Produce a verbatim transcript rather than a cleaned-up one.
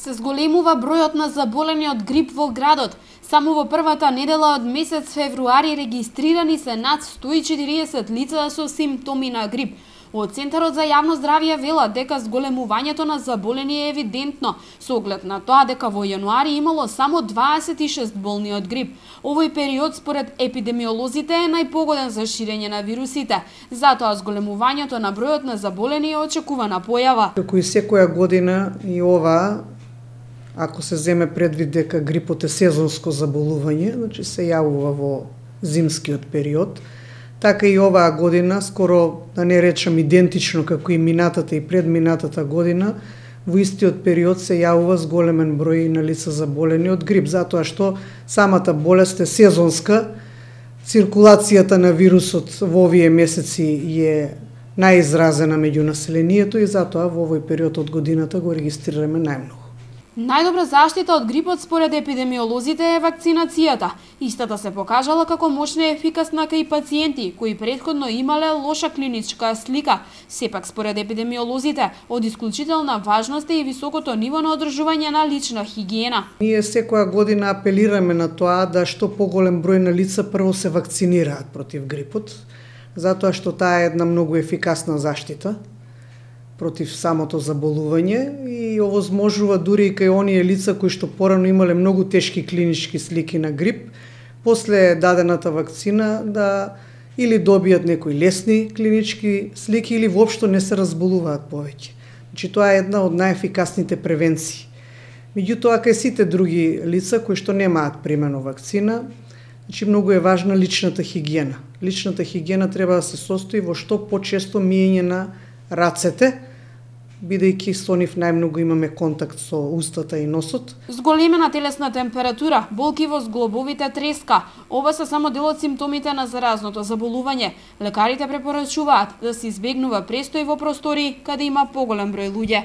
Се зголемува бројот на заболени од грип во градот. Само во првата недела од месец февруари регистрирани се над сто и четириесет лица со симптоми на грип. Од Центарот за јавно здравје велат дека зголемувањето на заболени е евидентно, со оглед на тоа дека во јануари имало само дваесет и шест болни од грип. Овој период според епидемиолозите е најпогоден за ширење на вирусите. Затоа зголемувањето на бројот на заболени е очекувана појава. Како и секоја година и ова, ако се земе предвид дека грипот е сезонско заболување, значи се јавува во зимскиот период, така и оваа година, скоро да не речам идентично како и минатата и предминатата година, во истиот период се јавува зголемен број на лица заболени од грип, затоа што самата болест е сезонска, циркулацијата на вирусот во овие месеци е најизразена меѓу населението и затоа во овој период од годината го регистрираме најмногу. Најдобра заштита од грипот според епидемиолозите е вакцинацијата. Истата се покажала како мощна и ефикасна кај пациенти кои претходно имале лоша клиничка слика. Сепак според епидемиолозите од исклучителна важност е и високото ниво на одржување на лична хигиена. Ние секоја година апелираме на тоа да што поголем број на лица прво се вакцинираат против грипот, затоа што таа е една многу ефикасна заштита против самото заболување и овозможува дури и кај оние лица кои што порано имале многу тешки клинички слики на грип, после дадената вакцина да или добијат некои лесни клинички слики или воопшто не се разболуваат повеќе. Значи тоа е една од најефикасните превенции. Меѓутоа кај сите други лица кои што немаат примено вакцина, значи многу е важна личната хигиена. Личната хигиена треба да се состои во што почесто миење на рацете, бидејќи со нив најмногу имаме контакт со устата и носот. Зголемена телесна температура, болки во зглобовите, треска. Ова се само дел од симптомите на заразното заболување. Лекарите препорачуваат да се избегнува престој во простори каде има поголем број луѓе.